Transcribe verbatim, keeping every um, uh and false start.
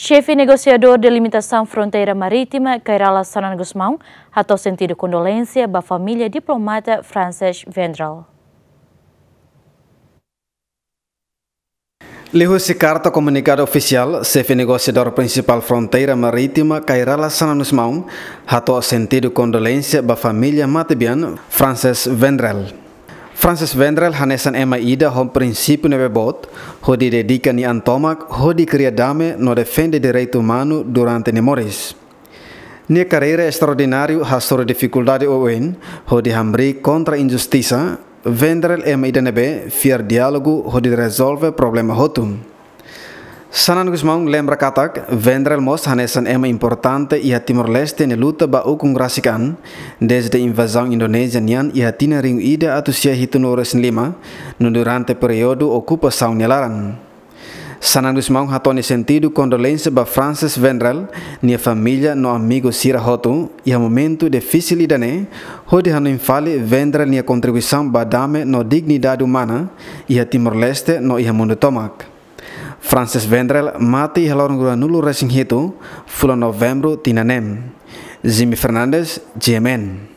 Xefe negosiadór delimitasaun fronteira marítima, Kay Rala Xanana Gusmão, hato'o sentidu kondolénsia ba família diplomata Frances Vendrell. Liuhusi karta komunikadu ofisiál, xefe negosiadór prinsipál fronteira marítima, Kay Rala Xanana Gusmão, hato'o sentidu kondolénsia ba família matebian Frances Vendrell. Frances Vendrell hanesan ema ida ho prinsípiu ne'ebé boot, hodi dedika nia an tomak hodi kria dame no defende direitu umanu durante nia moris. Nia karreira estraordináriu hasoru difikuldade oioin, hodi hamriik kontra injustisa. Vendrell ema ida ne'ebé fiar diálogu hodi rezolve problema hotu. Xanana Gusmão lembra katak, Vendrell mós hanesan ema importante iha Timor-Leste nia luta ba ukun rasik an, dezde invazaun Indonézia nian iha tinan rihun ida atus sia hitunulu resin lima, no durante períodu okupasaun nia laran. Xanana Gusmão hato'o nia sentidu kondolénsia ba Frances Vendrell, nia família no amigu sira hotu, iha momentu difisil ida-ne'e, hodi hanoin fali Vendrell nia kontribuisaun ba dame no dignidade umana, iha Timor-Leste no iha mundu tomak. Frances Vendrell mate iha loron ruanulu resin hitu, fulan Novembru tinan ne'e. Jimmy Fernandes, G M N.